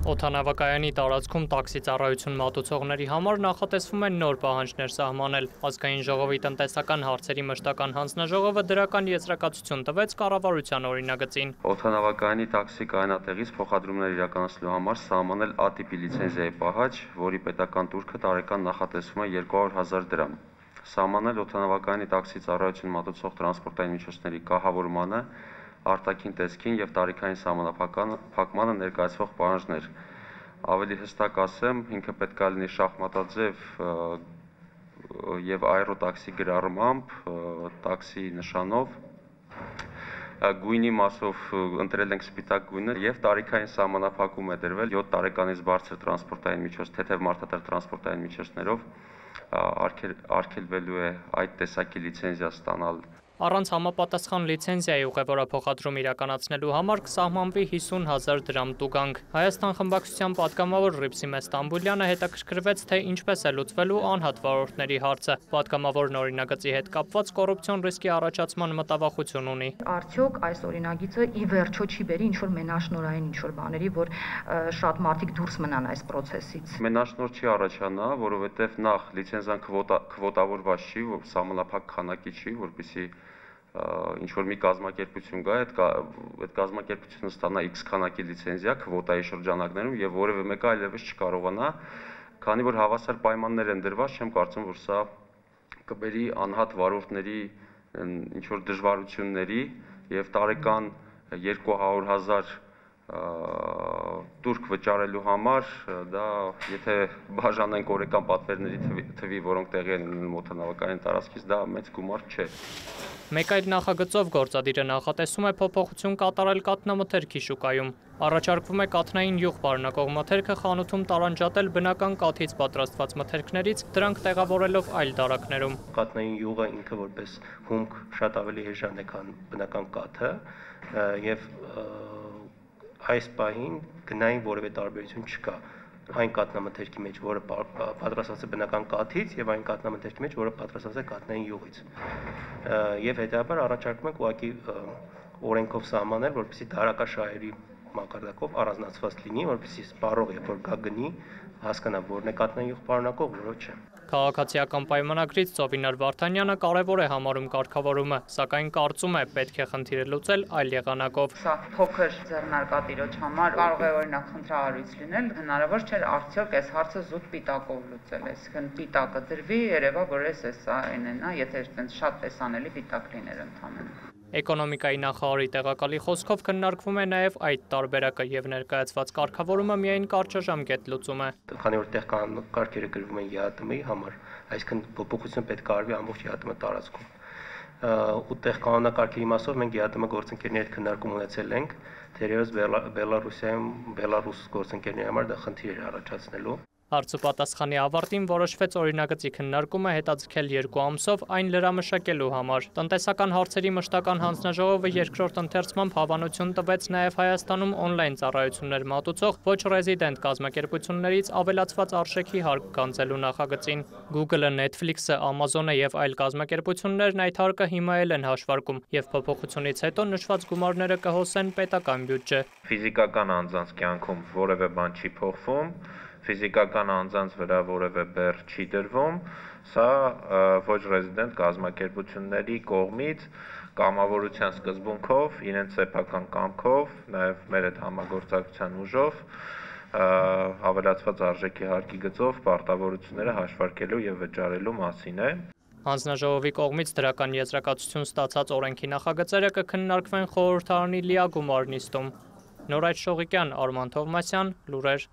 Օդանավակայանի տարածքում տաքսի ծառայություն մատուցողների համար նախատեսվում են նոր պահանջներ սահմանել։ Ազգային ժողովի տնտեսական հարցերի մշտական հանձնաժողովը դրական եզրակացություն տվեց կառավարության օրինագծին։ Օդանավակայանի տաքսի կայանատեղից փոխադրումներ իրականացնելու համար սահմանել A-տիպի լիցենզիայի պահանջ, որի պետական տուրքը տարեկան նախատեսվում է 200,000 դրամ։ Սահմանել օդանավակայանի տաքսի ծառայություն մատուցող տրանսպորտային միջոցների կահավորմանը, արտաքին տեսքին եւ տարիքային սահմանափակմանը ներկայացվող պահանջներ։ Ավելի հստակ ասեմ, ինքը պետք է լինի շախմատաձև եւ աերոտաքսի գրառմամբ, տաքսի նշանով, գույնի մասով ընտրել ենք սպիտակ գույնը եւ տարիքային սահմանափակում է դրվել 7 տարեկանից բարձր տրանսպորտային միջոց, թեթև մարդատար տրանսպորտային միջոցներով արգելվելու է այդ տեսակի լիցենզիա ստանալ։ Առանց համապատասխան լիցենզիայի ուղևորափոխադրում իրականացնելու համար կսահմանվի 50,000 դրամ տուգանք։ Հայաստան խմբակցության պատգամավոր Ռիփսիմե Ստամբուլյանը հետաքրքրվեց, թե ինչպես է լուծվելու անհատ վարորդների հարցը։ Պատգամավորն օրինագծի հետ կապված կոռուպցիոն ռիսկի առաջացման մտավախություն ունի։ Արդյոք այս օրինագիծը ի վերջո չի բերի ինչ-որ մենաշնորհային ինչ-որ բաների, որ շատ մարդիկ դուրս մնան այս process-ից։ Մենաշնորհ չի առաջանա, որովհետև նախ լիցենզիան քվոտավորված չի, սահմանափակ քանակի չի, որպեսզի ինչ-որ մի կազմակերպություն գա, այդ կազմակերպությունը ստանա X քանակի լիցենզիա քվոտայի շրջանակներում եւ որևէ մեկը այլևս չկարողանա, քանի որ հավասար պայմաններ են դրված, չեմ կարծում, որ սա կբերի անհատ վարորդների ինչ-որ դժվարությունների եւ տարեկան 200,000 տուրք վճարելու համար, դա եթե բաժանենք օրական պատվերների թվի, որոնք տեղի են ունենում օդանավակայանի տարածքից, դա մեծ գումար չէ։ Մեկ այլ նախագծով գործադիրը նախատեսում է փոփոխություն կատարել կաթնամթերքի շուկայում։ Առաջարկվում է կաթնային յուղ պարունակող մթերքը խանութում տարանջատել բնական կաթից պատրաստված մթերքներից, դրանք տեղավորելով այլ դարակներում։ Կաթնային յուղը ինքը որպես հումք շատ ավելի էժան է, քան բնական կաթը, եւ այս պահին գնային որևէ տարբերություն չկա այն կաթնամթերքի մեջ, որը պատրաստված է բնական կաթից, եւ այն կաթնամթերքի մեջ, որը պատրաստված է կաթնային յուղից։ Եվ հետեւաբար առաջարկում ենք ուղղակի օրենքով սահմանել, որպեսզի դարակաշահերի մակարդակով առանձնացված լինի, որպեսզի սպառող երբ որ գա գնի, հասկանա որն է կաթնային յուղ պարունակող, որը չէ։ Քաղաքացիական պայմանագրից Ծովինար Վարդանյանը կարևոր է համարում կարգավորումը, սակայն կարծում է պետք է խնդիրը լուծել այլ եղանակով։ Սա փոքր ձեռնարկատիրոջ համար կարող է օրինակ խնդրահարույց լինել, հնարավոր չէ արդյոք այս հարցը զուտ պիտակով լուծել, այսինքն պիտակը դրվի, երևա որ սա այն է, եթե այդպես շատ տեսանելի պիտակ լիներ ընդհանրապես։ Էկոնոմիկայի նախարարի տեղակալի խոսքով քննարկվում է նաև այդ տարբերակը եւ ներկայացված կարգավորումը միայն կարճաժամկետ լուծում է։ Քանի որ տեղ կարգերը գրվում են ԵԱՏՄ-ի համար, այսինքն փոփոխություն պետք է արվի ամբողջ ԵԱՏՄ տարածքում։ Ու տեղ կանոնակարգերի մասով մենք ԵԱՏՄ գործընկերների հետ քննարկում ունեցել ենք, թերևս Բելարուսիայում Բելարուս գործընկերների համար դա խնդիր է առաջացնելու։ Հարցուպատասխանի ավարտին որոշվեց օրինագծի քննարկումը հետաձգել 2 ամսով այն լրամշակելու համար։ Տնտեսական հարցերի մշտական հանձնաժողովը երկրորդ ընթերցմամբ հավանություն տվեց նաև Հայաստանում օնլայն ծառայություններ մատուցող ոչ ռեզիդենտ կազմակերպություններից ավելացված արժեքի հարկ գանձելու նախագծին։ Google-ը, Netflix-ը, Amazon-ը եւ այլ կազմակերպություններն այդ հարկը հիմա էլ են հաշվարկում եւ փոփոխությունից հետո նշված գումարները կհոսեն պետական բյուջե։ Ֆիզիկական անձանց կյանքում որևէ բան չի փոխվում, ֆիզիկական անձանց վրա որևէ բեռ չի դրվում, սա ոչ ռեզիդենտ կազմակերպությունների կողմից կամավորության սկզբունքով, իրենց սեփական կամքով, նաև մեր հետ համագործակցության ուժով ավելացված արժեքի հարկի գծով պարտավորությունները հաշվարկելու եւ վճարելու մասին է։ Հանձնաժողովի կողմից դրական եզրակացություն ստացած օրենքի նախագծերը կքննարկվեն խորհրդարանի լիագումար նիստում։ Նորայր Շողիկյան, Արման Թովմասյան, լուրեր։